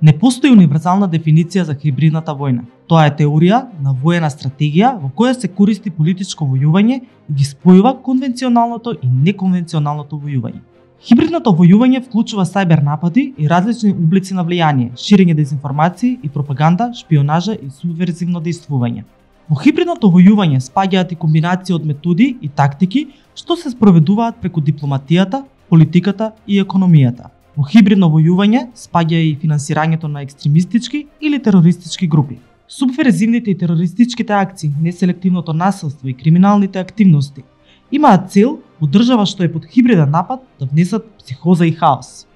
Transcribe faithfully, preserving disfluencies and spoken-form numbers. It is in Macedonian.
Не постои универзална дефиниција за хибридната војна. Тоа е теорија на воена стратегија во која се користи политичко војување и ги спојува конвенционалното и неконвенционалното војување. Хибридното војување вклучува сајбер напади и различни облици на влијание, ширење дезинформации и пропаганда, шпионажа и субверзивно дејствување. Во хибридното војување спаѓаат и комбинација од методи и тактики што се спроведуваат преку дипломатијата, политиката и економијата. Во хибридно војување спаѓа и финансирањето на екстремистички или терористички групи. Субверзивните и терористичките акции, неселективното насилство и криминалните активности имаат цел во држава што е под хибриден напад да внесат психоза и хаос.